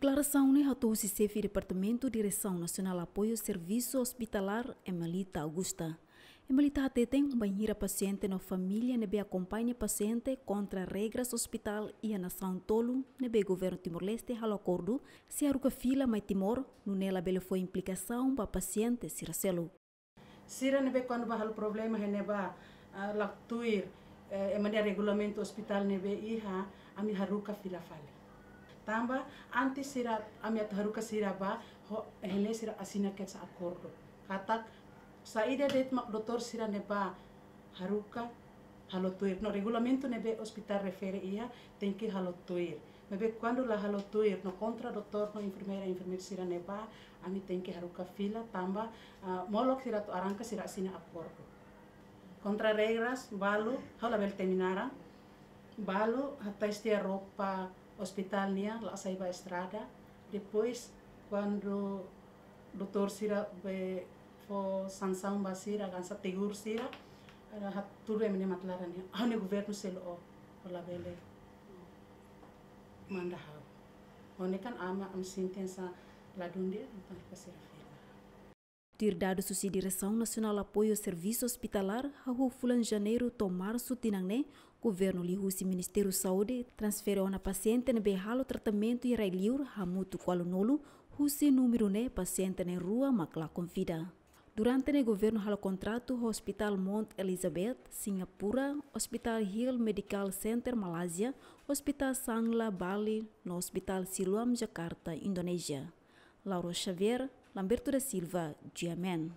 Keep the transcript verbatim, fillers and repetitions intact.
Deklarasaun ne'e hato'o husi Xefe Departamentu Diresaun Nasionál Apoiu Servisu Ospitalar, Emelita Augusta. Emelita hateten, bainhira pasiente no família ne'ebé akompaña pasiente kontra regras ospitál iha nasaun tolu ne'ebé governu Timor-Leste halo akordu, sei haruka fila mai Timor, nune'e labele fó implikasaun ba pasiente sira seluk. Sira ne'ebé kuandu bá halo problema iha ne'ebá, ah, la tuir, eh, ema nia regulamentu ospitál ne'ebé iha, ami haruka fila fali. Tanba antes sira, ami atu haruka sira bá, ho, iha ne'e sira asina kedas akordu. Katak saida de'it mak doutór sira ne'ebá haruka halo tuir. No regulamentu ne'ebé ospitál refere iha, tenke halo tuir. Maibé kuandu la halo tuir, no kontra doutór no enfermeira, enfermeiru sira ne'ebá, ami tenke haruka fila tanba, ah, molok sira atu arranka sira asina akordu. Kontra regras, balu, ha'u labele temi naran, balu hatais tiha roupa ospitál nian, la hasai ba estrada. Depois, kuandu doutór sira bá fó sansaun ba sira, hanesan tegur sira, hatudu ema nia matan-laran nian, ha'u-nia governu selu o, o labele manda ha'u. Ho ne'e kan ami, ami sente hanesan ladún di'ak, entaun haruka sira fila. Tuir dadus husi Diresaun Nasionál Apoiu Servisu Ospitalar, hahú fulan Janeiru to'o Marsu tinan ne'e, governu liuhusi Ministériu Saúde transfere ona pasiente ne'ebé halo tratamentu iha rai-liur hamutuk ualunulu, husi númeru ne'e pasiente na'in-rua mak la konfida. Durante ne'e governu halo kontratu ho Ospitál Mount Elizabeth, Singapura, Ospitál Hill Medical Center, Malázia, Ospitál Sanglah, Bali, no Ospitál Siloam, Jakarta, Indonézia. Lauro Xavier, Lamberto da Silva, G M N.